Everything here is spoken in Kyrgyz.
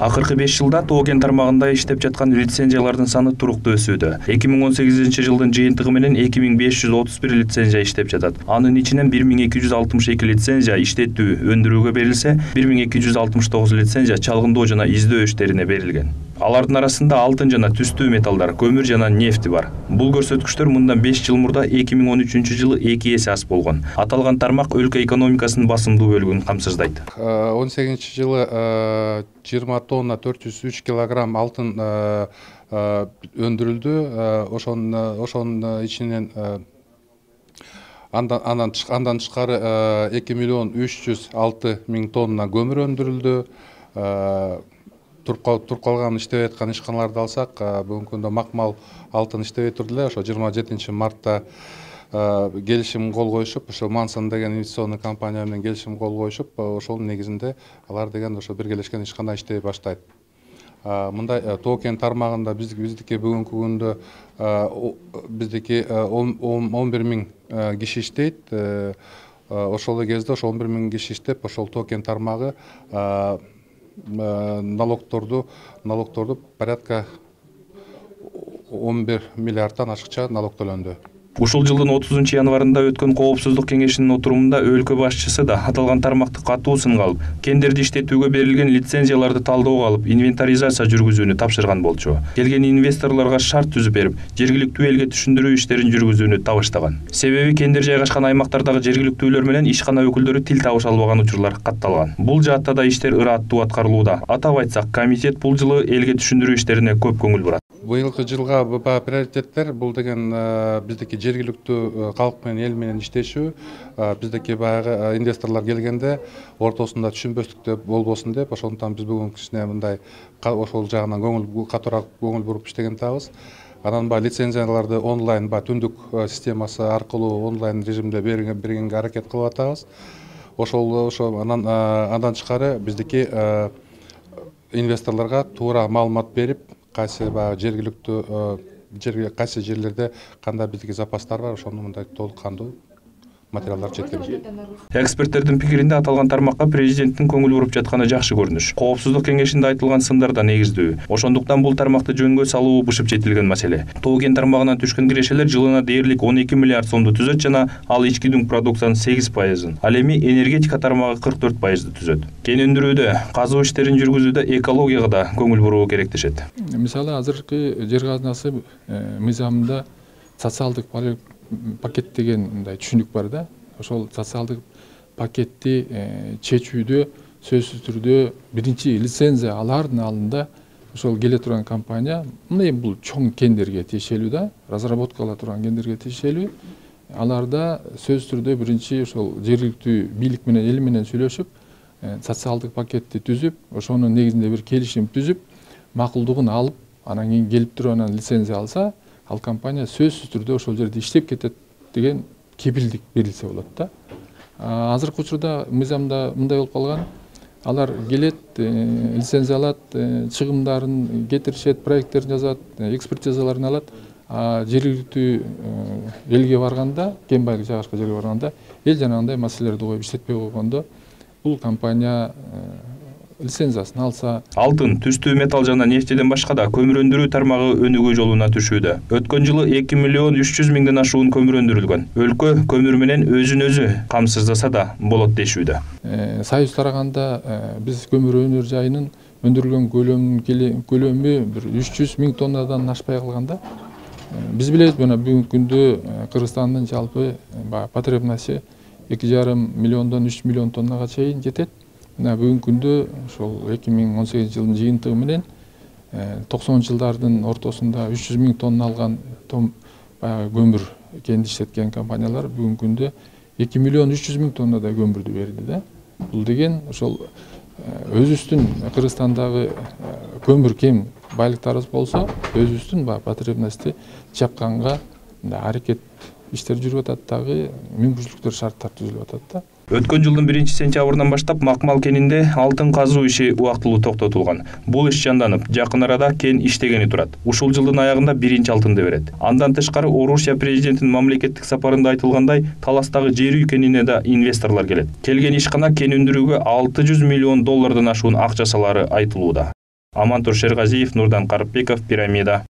Акыркы 5 жылда Тоо кен тармагында иштеп жаткан лицензиялардын саны туруктуу өсүүдө. 2018 жылдын жыйынтыгы менен 2531 лицензия иштеп жатат. Анын ичинен 1262 лицензия иштетүү, өндүрүүгө берилсе, 1269 лицензия чалгындоо жана издөө иштерине берилген. Алардын арасында алтын жана түстүү металлдар, көмүр жана нефти бар. Бул көрсөткүчтөр мындан 5 жыл мурда 2013 жылы 2 эсе аз болгон. Аталган тармак өлкө экономикасынын басымдуу бөлүгүн камсыздайт. 18 жылы 20 тонна 403 килограмм алтын өндүрүлдү. Ошонун ичинен андан тышкары 2 миллион 306 миң тонна көмүр өндүрүлдү. Туруп калган иштеп аткан ишканаларды алсак, бүгүнкү күндө макмал алтын иштебей турду эле. Ошо 27 мартта келишим кол коюшуп, ошо Мансон деген инвестиционный компания менен келишим кол коюшуп, ошонун негизинде алар деген ошо биргелешкен ишкана иштей баштайт. Мындай Тоо кен тармагында биздики бүгүнкү күндө биздики 11 миң киши иштейт. Ошол кезде ошо 11 миң киши иштеп, ошол Тоо кен тармагы налогторду порядка 11 миллиардтан ашыкча налог төлөндү. Ушул жылдын 30 январында өткөн Коопсуздук кеңешинин отурумунда өлкө башчысы да аталган тармакты катуу сынга алып, кендерди иштетүүгө берилген лицензияларды талдөөгө алып, инвентаризация жүргүзүүнү тапшырган болчу. Келген инвесторлорго шарт түзүп берип, жергиликтүү элге түшүндүрүү иштерин жүргүзүүнү табыштаган. Себеби кендер жайгашкан аймактардагы жергиликтүүлөр менен ишкана өкүлдөрү тил табыша албаган учурлар катталган. Бул жаатта да иштер ыраттуу аткарылууда. Атап айтсак, комитет бул жылы элге түшүндүрүү иштерине көп көңүл бурат. Быйылкы жылга приоритеттер бул деген биздики жергиликтүү калк менен эл менен иштешүү, биздики баягы инвесторлор келгенде ортосунда түшүнбөстүктөр болбосун деп, ошондуктан биз бүгүнкүсүнө мындай ошол жагынан катуураак көңүл буруп иштеген атабыз. Анан лицензияларды онлайн түндүк системасы аркылуу онлайн режимде бергенге аракет кылып атабыз. Ошол андан тышкары биздики инвесторлорго туура маалымат берип, кайсы жергиликтүү кайсы жерлерде кандай биздики запастар бар, ошону мындай толук кандуу материалдар жеткирилет. Эксперттердин пикиринде аталган тармакка президенттин көңүл буруп жатканы жакшы көрүнүш. Коопсуздук кеңешинде айтылган сындар да негиздүү. Ошондуктан бул тармакты жөнгө салуу бышып жетилген маселе. Тоо кен тармагынан түшкөн кирешелер жылына дээрлик 12 миллиард сомду түзөт жана ал ички дүң продукциянын 8%, ал эми энергетика тармагы 44%ды түзөт. Кен өндүрүүдө, казуу иштерин жүргүзүүдө экологияга да көңүл буруу керек дешет. Мисалы азыркы жер казынасы мыйзамында социалдык пакет деген мындай түшүнүк бар да. Ошол социалдык пакетти чечүүдө сөзсүз түрдө биринчи лицензия алардын алдында ошол келе турган компания, мындай бул чоң кендерге тиешелүү да, разработка кыла турган кендерге тиешелүү. Аларда сөзсүз түрдө биринчи ошол жергиликтүү бийлик менен эл менен сүйлөшүп, социалдык пакетти түзүп, ошонун негизинде бир келишим түзүп, макулдугун алып, анан кийин келип туруп анан лицензия алса, ал компания сөзсүз түрдө ошол жерде иштеп кетет деген кепилдик берилсе болот да. Азыркы учурда мыйзамда мындай болуп калган, алар келет, лицензия алат, чыгымдарын кетиришет, проекттерин жазат, экспертизаларын алат. Жергиликтүү элге барганда, кен байлык жайгашкан жерге барганда, эл жанагындай маселелерди коюп иштетпей койгондо, бул компания лицензиясын алса. Алтын, түстүү металл жана нефтиден башка да көмүр өндүрүү тармагы өнүгүү жолуна түшүүдө. Өткөн жылы 2 миллион 300 миңден ашуун көмүр өндүрүлгөн. Өлкө көмүр менен өзүн өзү камсыздаса да болот дешүүдө. Союз тараганда биз көмүр өнөр жайынын өндүрүлгөн көлөмү бир 300 миң тоннадан ашпай калганда. Биз билебиз, мына бүгүнкү күндө Кыргызстандын жалпы потребности 2,5 миллиондон 3 миллион тоннага чейин жетет. Бүгүнкү күндө ошол 2018 жылдын жыйынтыгы менен 90 жылдардын ортосунда 300 миң тонна алган көмүр кенди иштеткен компаниялар бүгүнкү күндө 2 миллион 300 миң тоннадай көмүрдү берди да. Бул деген ошол өзүбүздүн Кыргызстандагы көмүр кем байлыктарыбыз болсо, өзүбүздүн потребности жапканга аракет иштер жүрүп атат дагы, мүмкүнчүлүктөр, шарттар түзүлүп атат да. Өткөн жылдын 1-сентябрынан баштап макмал кенинде алтын казуу иши убактылуу токтотулган. Бул иш жанданып, жакын арада кен иштегени турат. Ушул жылдын аягында биринчи алтынды берет. Андан тышкары Орусия президентинин мамлекеттик сапарында айтылгандай, Таластагы жер үй кенине да инвесторлор келет. Келген ишкана кен өндүрүүгө $600 миллион ашуун акча салары айтылууда. Амантур Шергазиев, Нурдан Карыпбеков, Пирамида.